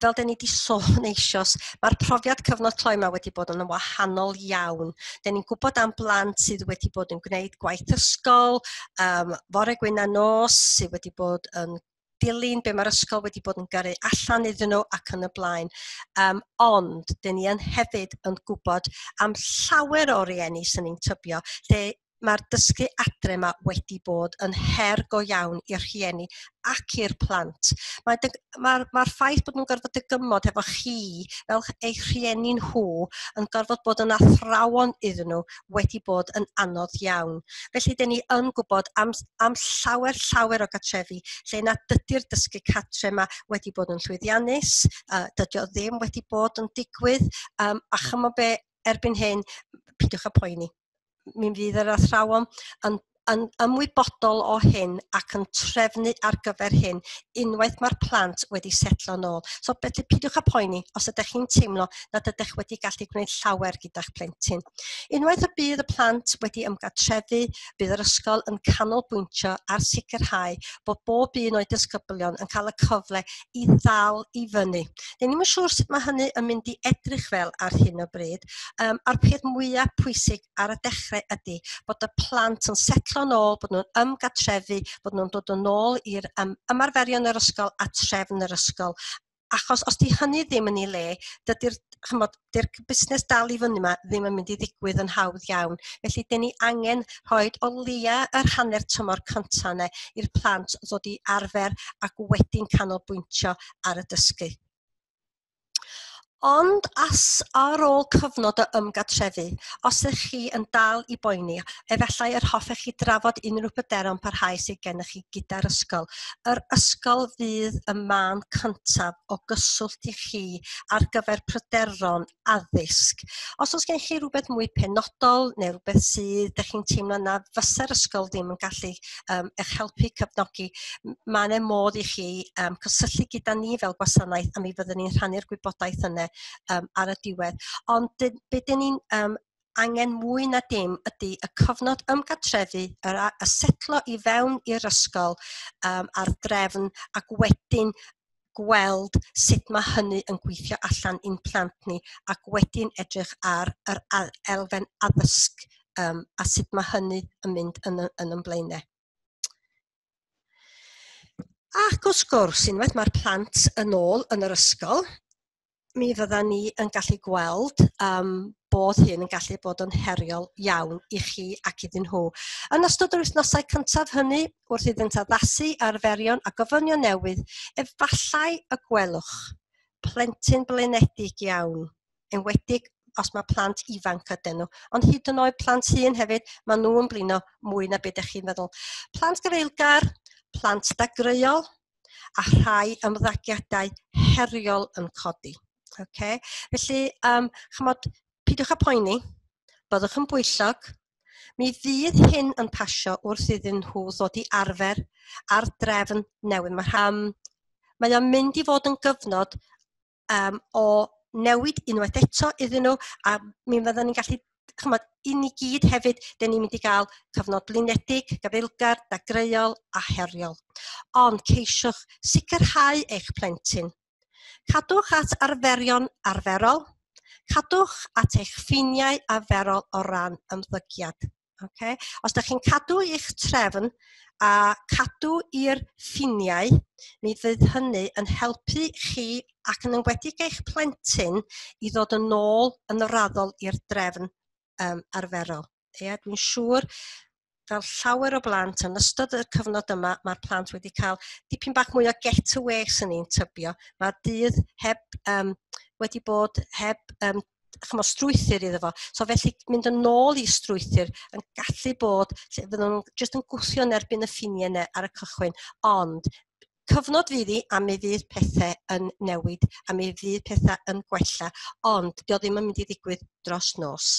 fel den ni wedi sôn eisoes, mae'r profiad cyfnod cloi yma wedi bod yn wahanol iawn. Den ni'n gwybod am blant sydd wedi bod yn gwneud gwaith ysgol, um, fore gwyn a nos, sydd wedi bod yn dilyn be mae'r ysgol wedi bod yn gyrru allan iddyn nhw ac yn y blaen. Um, ond, dyn ni yn hefyd yn gwybod am llawer o rieni sy'n ni'n tybio, lle mae'r dysgu adre yma wedi bod yn her go iawn i'r rhieni ac i'r plant. Mae'r mae, mae ffaith bod nhw'n gorfod dygymod efo chi fel eich rhieni nhw yn gorfod bod yn athrawon iddyn nhw wedi bod yn anodd iawn. Felly, dyn ni yn gwybod am, am llawer llawer o gartrefi lle na dydy'r dysgu cartre yma wedi bod yn llwyddiannus, uh, dydy o ddim wedi bod yn digwydd, um, a chymod be, erbyn hyn, peidiwch â poeni. Mi fydd yr athrawon yn, yn ymwybodol o hyn ac yn trefnu ar gyfer hyn unwaith mae'r plant wedi setlo nôl. So felly peidiwch â poeni os ydych chi'n teimlo nad ydych wedi gallu gwneud llawer gyda'ch plentyn. Unwaith y bydd y plant wedi ymgartrefu, bydd yr ysgol yn canolbwyntio ar sicrhau bod bob un o'i disgyblion yn cael y cyfle i ddal i fyny. Dyn ni'm yn siŵr sut mae hynny yn mynd i edrych fel ar hyn o bryd. Um, a'r peth mwyaf pwysig ar y dechrau ydy bod y plant yn setlo nôl, bod nhw'n ymgartrefu, bod nhw'n dod yn ôl i'r um, ymarferion yr ysgol a trefn yr ysgol. Achos os di hynny ddim yn ei le, dydy'r chymod, dy'r busnes dal i fyny yma ddim yn mynd i ddigwydd yn hawdd iawn. Felly, dyn ni angen rhoi o leia yr hanner tymor cyntaf yna i'r plant ddod i arfer ac wedyn canolbwyntio ar y dysgu. Ond as ar ôl cyfnod o ymgartrefu, os ydych chi yn dal i boeni, efallai yr hoffech chi drafod unrhyw bryderon parhaus sydd gennych chi gyda'r ysgol. Yr ysgol fydd y man cyntaf o gyswllt i chi ar gyfer pryderon addysg. Os oes gen chi rhywbeth mwy penodol neu rhywbeth sydd ydych chi'n teimlo na fysa'r ysgol ddim yn gallu um, eich helpu cefnogi, mae yna modd i chi um, cysylltu gyda ni fel gwasanaeth a mi fyddwn ni'n rhannu'r gwybodaeth yna Um, ar y diwedd. Ond be dyn ni'n um, angen mwy na dim ydy y cyfnod ymgartrefu, yr, y setlo i fewn i'r ysgol um, a'r drefn ac wedyn gweld sut mae hynny yn gweithio allan i'n plant ni ac wedyn edrych ar yr elfen addysg um, a sut mae hynny yn mynd yn, yn yn blaenau. Ac wrth gwrs, unwaith mae'r plant yn ôl yn yr ysgol, mi fydda ni yn gallu gweld um, bod hyn yn gallu bod yn heriol iawn i chi ac iddyn nhw. Yn ystod yr wythnosau cyntaf hynny, wrth iddynt addasu arferion a gofynion newydd, efallai y gwelwch plentyn blinedig iawn, enwedig os mae plant ifanc ydyn nhw. Ond hyd yn oed plant hŷn hefyd, maen nhw yn blino mwy na beth ydych chi'n meddwl. Plant gafaelgar, plant dagreuol, a rhai ymddygiadau heriol yn codi. Okay. Felly, um, chymod, peidiwch â poeni, byddwch yn bwyllog. Mi fydd hyn yn pasio wrth iddyn nhw ddod i arfer ar drefn newydd. Mae, um, mae o'n mynd i fod yn gyfnod um, o newid unwaith eto iddyn nhw, a mi fydden ni'n gallu, chymod, i ni gyd hefyd, dyn ni'n mynd i gael cyfnod blinedig, gafaelgar, dagreuol a heriol. Ond ceisiwch sicrhau eich plentyn. Cadwch at arferion arferol, cadwch at eich ffiniau arferol o ran ymddygiad. Okay? Os ydych chi'n cadw eich trefn a cadw i'r ffiniau, mi fydd hynny yn helpu chi ac yn enwedig eich plentyn i ddod yn ôl yn raddol i'r drefn um, arferol. Ie, dwi'n siŵr fel llawer o blant yn ystod y cyfnod yma, mae'r plant wedi cael dipyn bach mwy o getaway sy'n ni'n tybio. Mae'r dydd heb um, wedi bod heb um, chymod, strwythur iddo fo. So felly mynd yn ôl i strwythur yn gallu bod, lle fydden nhw'n jyst yn gwthio yn erbyn y ffiniau yna ar y cychwyn, ond cyfnod fydd hi a mi fydd pethau yn newid a mi fydd pethau yn gwella, ond dio ddim yn mynd i ddigwydd dros nos.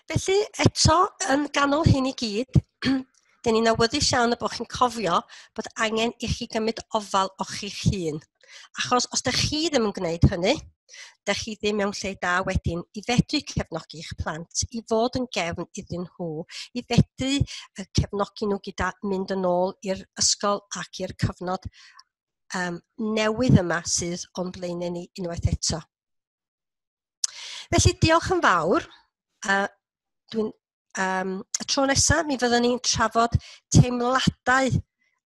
Felly, eto, yn ganol hyn i gyd, dyn ni'n awyddus iawn y bod chi'n cofio bod angen i chi gymryd ofal o chi'ch hun. Achos os dych chi ddim yn gwneud hynny, dych chi ddim mewn lle da wedyn i fedru cefnogi eich plant, i fod yn gefn iddyn nhw, i fedru cefnogi nhw gyda mynd yn ôl i'r ysgol ac i'r cyfnod um, newydd yma sydd o'n blaenau ni unwaith eto. Felly, diolch yn fawr. Uh, Dwi'n Um, y tro nesaf, mi fyddwn ni'n trafod teimladau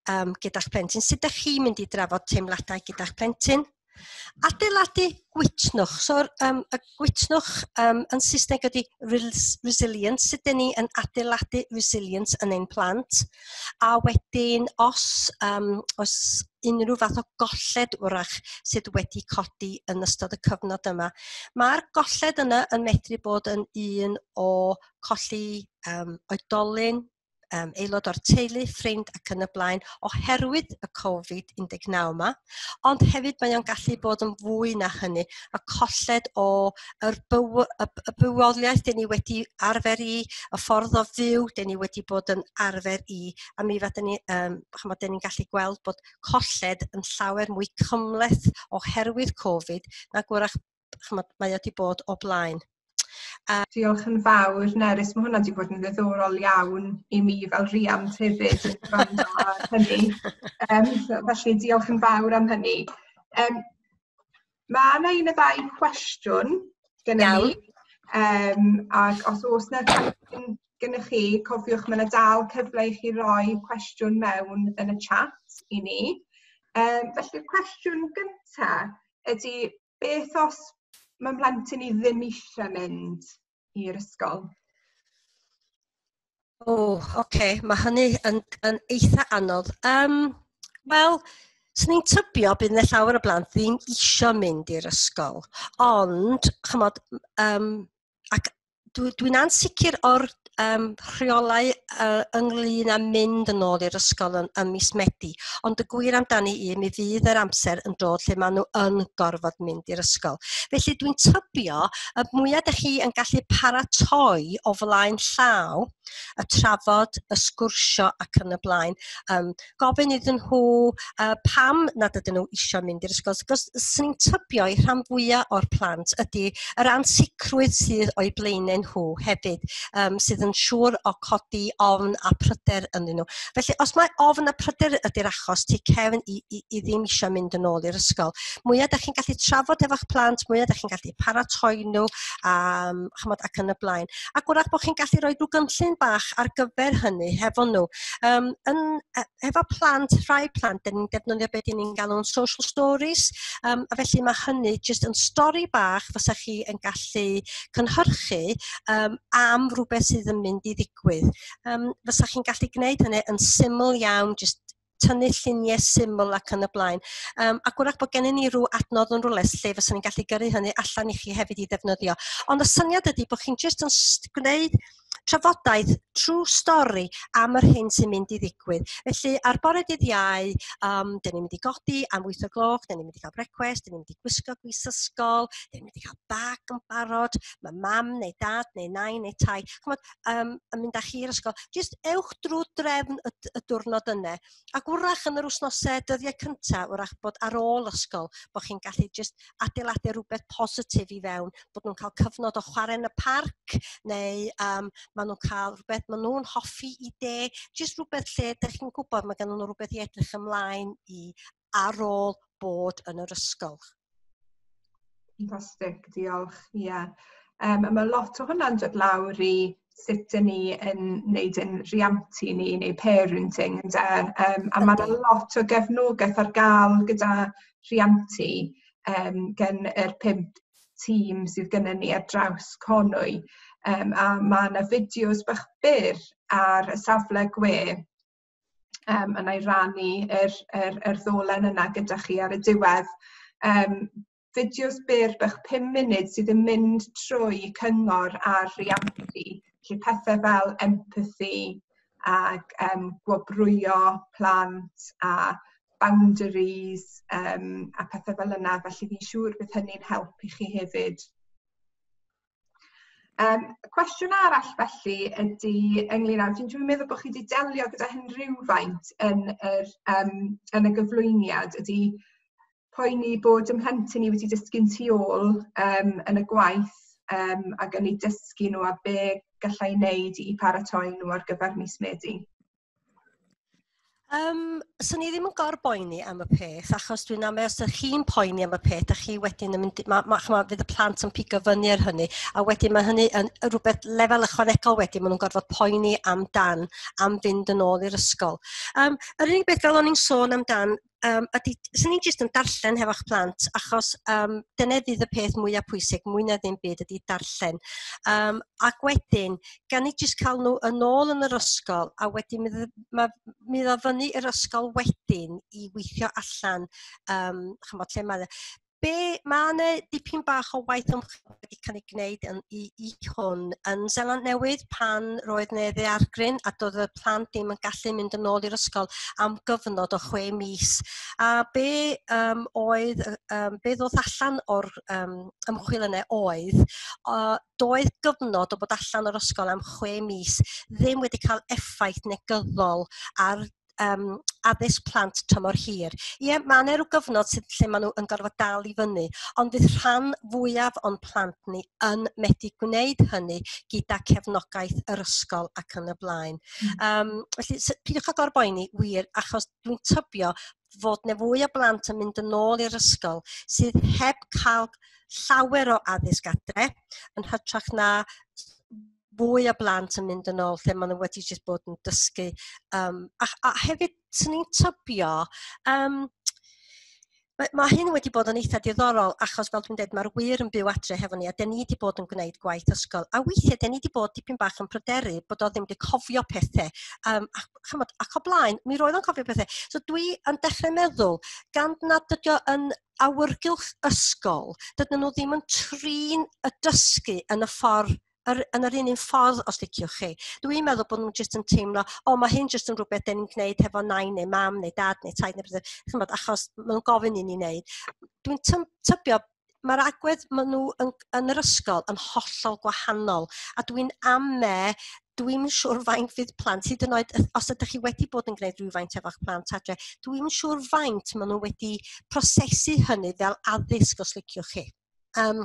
um, gyda'ch plentyn. Sut ydych chi'n mynd i drafod teimladau gyda'ch plentyn? Adeiladu gwytnwch. So, um, y gwytnwch um, yn Saesneg ydy resilience. Sut ydyn ni yn adeiladu resilience yn ein plant? A wedyn, os, um, os unrhyw fath o golled wrach sydd wedi codi yn ystod y cyfnod yma. Mae'r golled yna yn medru bod yn un o colli um, oedolyn, um, aelod o'r teulu, ffrind ac yn y blaen oherwydd y Covid un deg naw yma, ond hefyd mae o'n gallu bod yn fwy na hynny, y colled o yr byw, y, y bywoliaeth dyn ni wedi arfer i, y ffordd o fyw dyn ni wedi bod yn arfer i, a mi fydden ni, um, chymod, dyn ni'n gallu gweld bod colled yn llawer mwy cymhleth oherwydd Covid na gwrach, chymod, mae o wedi bod o blaen. Uh, Diolch yn fawr, Nerys. Mae hwnna wedi bod yn ddiddorol iawn i mi fel rhiant hefyd yn gwrando ar hynny. Um, felly diolch yn fawr am hynny. Um, mae yna un neu ddau cwestiwn gennym ni. Um, ac os oes yna cwestiwn gennych chi, cofiwch mae yna dal cyfle i chi roi cwestiwn mewn yn y chat i ni. Um, felly'r cwestiwn gyntaf ydy, beth os mae'n plentyn i ddim eisiau mynd i'r ysgol? O, oh, oce, okay. Mae hynny yn, yn eitha anodd. Um, Wel, swn i'n tybio bydd yna llawer o blant ddim eisiau mynd i'r ysgol, ond, chymod, um, ac dwi, dwi'n ansicr o'r um, rheolau uh, ynglyn â mynd yn ôl i'r ysgol yn, yn mis Medi, ond y gwir amdani i, mi fydd yr amser yn dod lle maen nhw yn gorfod mynd i'r ysgol. Felly dwi'n tybio y mwyaf ydych chi yn gallu paratoi o flaen llaw y trafod, y sgwrsio ac yn y blaen. Um, gofyn iddyn nhw uh, pam nad ydyn nhw eisiau mynd i'r ysgol. Cos swn i'n tybio i rhan fwyaf o'r plant ydy yr ansicrwydd sydd o'u blaenau nhw hefyd, um, sydd yn siŵr o codi ofn a pryder ynddyn nhw. Felly, os mae ofn a pryder ydy'r achos, tu cefn i, i, i ddim eisiau mynd yn ôl i'r ysgol. Mwyaf ydych chi'n gallu trafod efo'ch plant, mwyaf ydych chi'n gallu paratoi nhw, um, chymod, ac yn y blaen. Ac wrach bod chi'n gallu rhoi rhyw gynllun bach ar gyfer hynny hefo nhw. Um, yn, efo plant, rhai plant, dyn ni'n defnyddio beth ni'n galw'n social stories, um, a felly mae hynny jyst yn stori bach fysa chi yn gallu cynhyrchu um, am rhywbeth sydd yn mynd i ddigwydd. Um, fysa chi'n gallu gwneud hynny yn syml iawn, jyst tynnu lluniau syml ac yn y blaen. Um, ac wrach bod gennym ni rhyw adnodd yn rhywle lle fysa ni'n gallu gyrru hynny allan i chi hefyd i ddefnyddio. Ond y syniad ydy bod chi'n jyst yn gwneud trafodaeth trwy stori am yr hyn sy'n mynd i ddigwydd. Felly, ar bore dydd Iau, um, dyn ni'n mynd i godi am wyth o gloch, dyn ni'n mynd i cael brecwast, dyn ni'n mynd i gwisgo gwis ysgol, dyn ni'n mynd i cael bag yn barod, mae mam neu dad neu nain neu tai, chymod, um, yn mynd â chi i'r ysgol. Jyst ewch drwy drefn y, y diwrnod yna. Ac wrach yn yr wythnosau dyddiau cyntaf, wrach bod ar ôl ysgol, bod chi'n gallu jyst adeiladu rhywbeth positif i fewn, bod nhw'n cael cyfnod o chwarae yn y parc, neu um, maen nhw'n cael rhywbeth maen nhw'n hoffi i de, jyst rhywbeth lle ydych chi'n gwybod mae gen nhw rhywbeth i edrych ymlaen i ar ôl bod yn yr ysgol. Fantastic, diolch. Ie. Yeah. Um, a mae lot o hwnna'n dod lawr i sut ydyn ni yn wneud yn rhiantu ni neu parenting. Ynde? Um, a mae yna lot o gefnogaeth ar gael gyda rhiantu um, gen yr pump tîm sydd gennym ni ar draws Conwy. Um, a mae yna fideos bach byr ar y safle gwe, um, a na i rannu yr, yr, yr ddolen yna gyda chi ar y diwedd. Um, fideos byr bach pum munud sydd yn mynd trwy cyngor ar riantu, felly pethau fel empathy ac um, gwobrwyo plant a boundaries um, a pethau fel yna, felly fi'n siŵr bydd hynny'n help i chi hefyd. Um, cwestiwn arall felly ydy ynglyn â, dwi'n meddwl bod chi wedi delio gyda hyn rhywfaint yn, yr, um, yn y gyflwyniad, ydy poeni bod ymhlentyn ni wedi dysgu'n tu ôl um, yn y gwaith um, ac yn ei dysgu nhw a be gallai wneud i paratoi nhw ar gyfer mis Medi. Um, swn i ddim yn gorboeni am y peth, achos dwi'n amau os ydych chi'n poeni am y peth, a chi wedyn yn mynd, ma, ma, ma, fydd y plant yn pigo fyny ar hynny, a wedyn mae hynny yn rhywbeth lefel ychwanegol wedyn, maen nhw'n gorfod poeni amdan, am fynd yn ôl i'r ysgol. Um, yr unig beth fel o'n i'n sôn amdan, um, ydy, swn i'n jyst yn darllen hefo'ch plant, achos um, dyna fydd y peth mwyaf pwysig, mwy na ddim byd ydy darllen. Um, ac wedyn, gan i jyst cael nhw yn ôl yn yr ysgol, a wedyn mi, ma, mi ddod fyny i'r ysgol wedyn i weithio allan, um, chymod, lle mae Be, mae yna dipyn bach o waith ymchwil wedi cael ei gwneud yn, i, i hwn yn Seland Newydd pan roedd yna ddaeargryn a doedd y plant ddim yn gallu mynd yn ôl i'r ysgol am gyfnod o chwe mis. A be um, oedd, um, be ddoth allan o'r um, ymchwil yna oedd, uh, doedd gyfnod o bod allan o'r ysgol am chwe mis ddim wedi cael effaith negyddol ar um, addysg plant tymor hir. Ie, mae yna rhyw gyfnod sydd lle maen nhw yn gorfod dal i fyny, ond fydd rhan fwyaf o'n plant ni yn medru gwneud hynny gyda cefnogaeth yr ysgol ac yn y blaen. Mm. Um, felly, peidiwch â gorboeni, wir, achos dwi'n tybio fod 'na fwy o blant yn mynd yn ôl i'r ysgol sydd heb cael llawer o addysg adre, yn hytrach na fwy o blant yn mynd yn ôl lle maen nhw wedi jyst bod yn dysgu. Um, a, a hefyd, swn i'n tybio, um, mae, mae hyn wedi bod yn eitha diddorol achos fel dwi'n dweud, mae'r ŵyr yn byw adre hefo ni a den ni wedi bod yn gwneud gwaith ysgol. A weithiau, den ni wedi bod dipyn bach yn pryderu bod o ddim wedi cofio pethau. Um, a, chymod, ac o blaen, mi roedd o'n cofio pethau. So dwi yn dechrau meddwl, gan nad ydi o yn awyrgylch ysgol, dydyn nhw ddim yn trin y dysgu yn y ffordd yr, yn yr un un ffordd, os liciwch chi. Dwi'n meddwl bod nhw'n jyst yn teimlo, o, mae hyn jyst yn rhywbeth den ni'n gwneud hefo nain neu mam neu dad neu taid neu beth, chymod, achos maen nhw'n gofyn i ni wneud. Dwi'n tybio, mae'r agwedd maen nhw yn, yn yr ysgol yn hollol gwahanol, a dwi'n ame, dwi'n siŵr faint fydd plant, hyd yn oed os ydych chi wedi bod yn gwneud rhywfaint efo'ch plant adre, dwi'n siŵr faint maen nhw wedi prosesu hynny fel addysg, os liciwch chi. Um,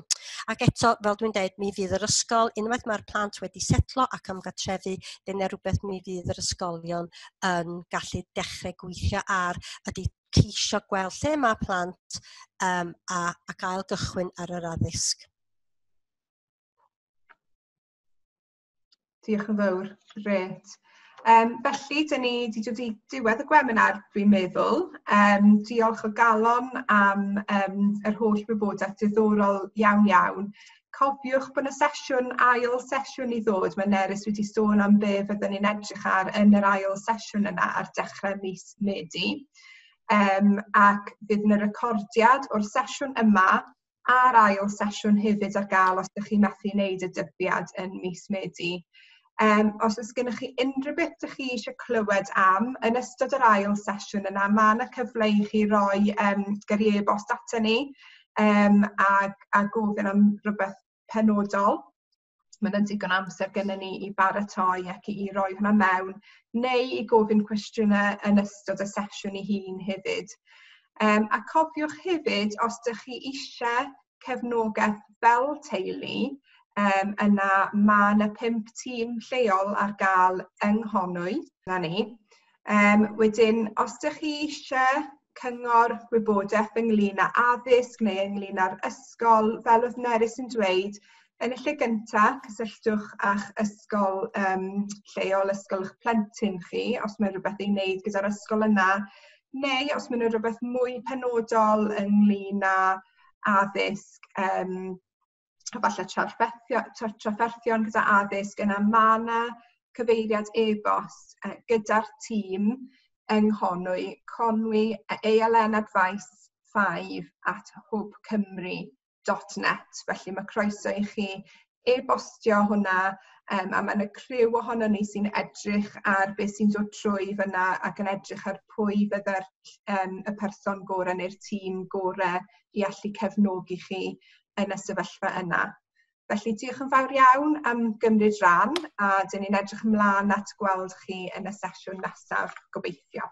ac eto, fel dwi'n dweud, mi fydd yr ysgol, unwaith mae'r plant wedi setlo ac ymgartrefu, dyna rhywbeth mi fydd yr ysgolion yn gallu dechrau gweithio ar, ydy ceisio gweld lle mae plant um, a, ac ail gychwyn ar yr addysg. Diolch yn fawr, grêt. Um, felly, dyn ni wedi dod i diwedd y gwebinar, dwi'n meddwl. Um, diolch o galon am um, yr holl wybodaeth diddorol iawn iawn. Cofiwch bod yna sesiwn, ail sesiwn i ddod. Mae Nerys wedi sôn am be fyddwn ni'n edrych ar yn yr ail sesiwn yna ar dechrau mis Medi. Um, ac fydd yna recordiad o'r sesiwn yma a'r ail sesiwn hefyd ar gael os ydych chi'n methu wneud y dyddiad yn mis Medi. Um, os oes gennych chi unrhyw beth ydych chi eisiau clywed am, yn ystod yr ail sesiwn yna, mae yna cyfle i chi roi um, gyrru e-bost ato ni um, a, a gofyn am rhywbeth penodol. Mae yna digon amser gennym ni i baratoi ac i, i roi hwnna mewn, neu i gofyn cwestiynau yn ystod y sesiwn ei hun hefyd. Um, a cofiwch hefyd, os ydych chi eisiau cefnogaeth fel teulu, Um, yna mae yna pump tîm lleol ar gael yng Nghonwy, na ni. Um, wedyn, os ydych chi eisiau cyngor gwybodaeth ynglyn â addysg neu ynglyn â'r ysgol, fel oedd Nerys yn dweud, yn y lle gyntaf, cysylltwch â'ch ysgol um, lleol, ysgol eich plentyn chi, os mae rhywbeth i'w wneud gyda'r ysgol yna, neu os mae rhywbeth mwy penodol ynglyn â addysg, um, a falle trafferthion gyda addysg, yna mae yna cyfeiriad e-bost gyda'r tîm yng Nghonwy, Conwy A L N Advice five at hwb cymru dot net. Felly mae croeso i chi e-bostio hwnna, um, a mae yna criw ohono ni sy'n edrych ar beth sy'n dod trwy fyna ac yn edrych ar pwy fydde'r um, y person gorau neu'r tîm gorau i allu cefnogi chi yn y sefyllfa yna. Felly diolch yn fawr iawn am gymryd rhan, a dyn ni'n edrych ymlaen at gweld chi yn y sesiwn nesaf, gobeithio.